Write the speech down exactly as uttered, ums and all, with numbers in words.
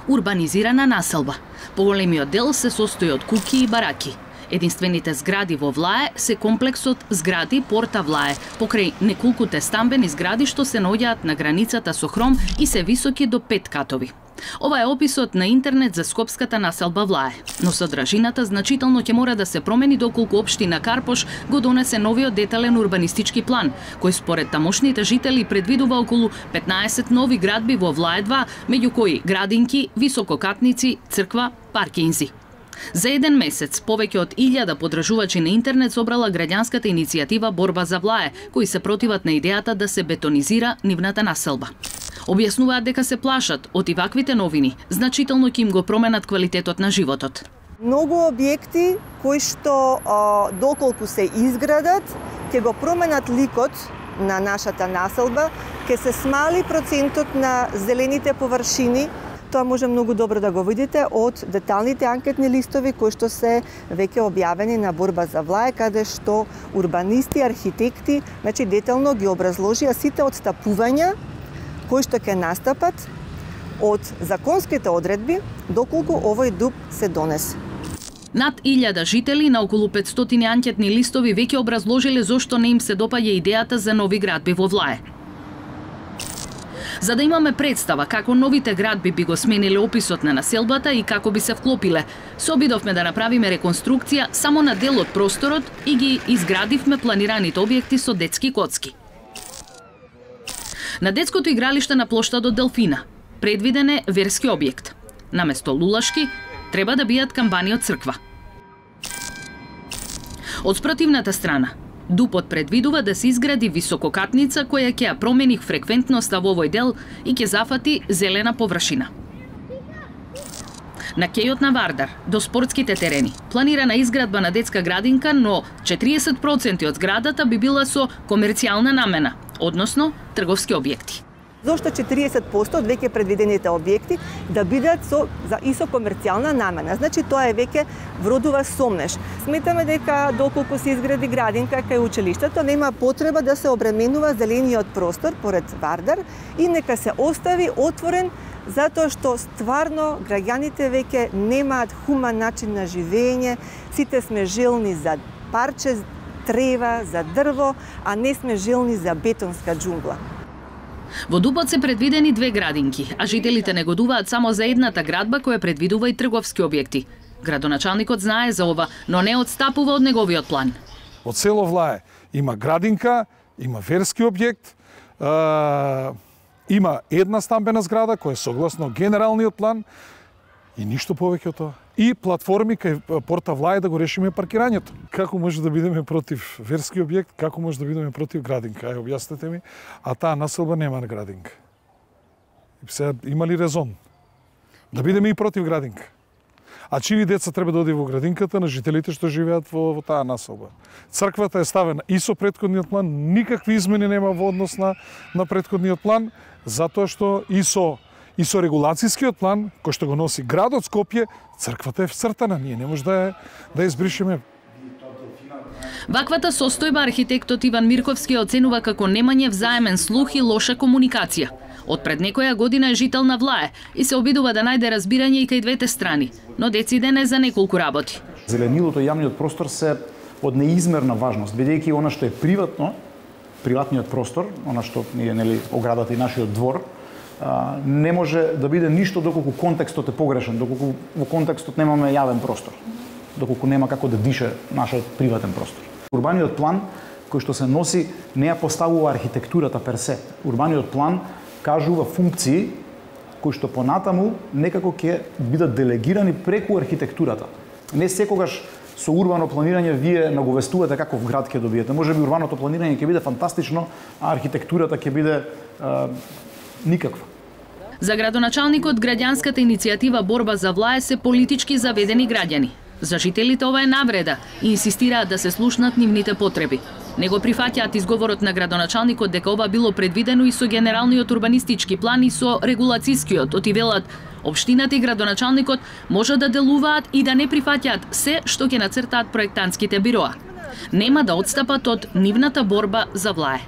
урбанизирана населба. Поголемиот дел се состои од куќи и бараки. Единствените згради во Влае се комплексот згради Порта Влае, покрај неколкуте стамбени згради што се наоѓаат на границата со Хром и се високи до пет катови. Ова е описот на интернет за скопската населба Влае, но содржината значително ќе мора да се промени доколку општина Карпош го донесе новиот детален урбанистички план, кој според тамошните жители предвидува околу петнаесет нови градби во Влае два, меѓу кои градинки, висококатници, црква, паркинзи. За еден месец повеќе од илјада подржувачи на интернет собрала граѓанската иницијатива Борба за Влае, кои се противат на идејата да се бетонизира нивната населба. Објаснуваат дека се плашат од и ваквите новини, значително ќе им го променат квалитетот на животот. Многу објекти кои што а, доколку се изградат, ќе го променат ликот на нашата населба, ќе се смали процентот на зелените површини. Тоа може многу добро да го видите од деталните анкетни листови кои што се веќе објавени на Борба за Влае, каде што урбанисти, архитекти, значи детално ги образложија сите отстапувања кои што ќе настапат од законските одредби доколку овој ДУП се донесе. Над илјада жители на околу петстотини анкетни листови веќе образложиле зошто не им се допаѓа идејата за нови градби во Влае. За да имаме представа како новите градби би го смениле описот на населбата и како би се вклопиле, се обидовме да направиме реконструкција само на дел од просторот и ги изградивме планираните објекти со детски коцки. На детското игралиште на плоштадот Делфина предвиден е верски објект. Наместо лулашки треба да бијат камбани од црква. Од спротивната страна, ДУПот предвидува да се изгради висококатница која ќе ја промени фреквентноста во овој дел и ќе зафати зелена површина. На кејот на Вардар, до спортските терени, планирана изградба на детска градинка, но четириесет проценти од зградата би била со комерцијална намена, односно трговски објекти. Зошто четириесет проценти од веќе предвидените објекти да бидат со за и со комерцијална намена. Значи тоа е веќе вродува сомнеш. Сметаме дека доколку се изгради градинка кај училиштето нема потреба да се обременува зелениот простор поред Вардар и нека се остави отворен затоа што стварно граѓаните веќе немаат хуман начин на живење, сите сме желни за парче трева, за дрво, а не сме желни за бетонска џунгла. Во ДУПот се предвидени две градинки, а жителите негодуваат само за едната градба која предвидува и трговски објекти. Градоначалникот знае за ова, но не отстапува од неговиот план. Од село Влае има градинка, има верски објект, е, има една стамбена зграда која е согласно генералниот план и ништо повеќе од тоа. И платформи кај Порта Влае да го решиме паркирањето. Како може да бидеме против верски објект, како може да бидеме против градинка? Ај, објаснете ми. А таа населба нема на градинка. И сега има ли резон да бидеме и против градинка? А чиви деца треба да оди во градинката на жителите што живеат во, во таа населба? Црквата е ставена и со претходниот план, никакви измени нема во однос на, на претходниот план, затоа што и со И со регулацијскиот план, кој што го носи градот Скопје, црквата е вцртана, ние не може да, да избришеме. Ваквата состојба архитектот Иван Мирковски оценува како немање взаемен слух и лоша комуникација. Од пред некоја година е жител на Влае и се обидува да најде разбирање и кај двете страни, но дециден е за неколку работи. Зеленилото и јавниот простор се од неизмерна важност, бидејќи она што е приватно, приватниот простор, она што е нели оградата и нашиот двор, не може да биде ништо доколку контекстот е погрешен, доколку во контекстот немаме јавен простор, доколку нема како да дише нашиот приватен простор. Урбаниот план кој што се носи не ја поставува архитектурата персе. Урбаниот план кажува функции кои што понатаму некако ќе бидат делегирани преку архитектурата. Не секогаш со урбано планирање вие наговестувате каков град ќе добиете. Можеби урбаното планирање ќе биде фантастично, а архитектурата ќе биде а, никаква. За градоначалникот граѓанската иницијатива Борба за Влае се политички заведени граѓани. За жителите ова е навреда и инсистираат да се слушнат нивните потреби. Не го прифаќаат изговорот на градоначалникот дека ова било предвидено и со генералниот урбанистички план и со регулацијскиот, оти велат општината и градоначалникот може да делуваат и да не прифаќаат се што ќе нацртаат проектантските бироа. Нема да отстапат од нивната борба за Влае.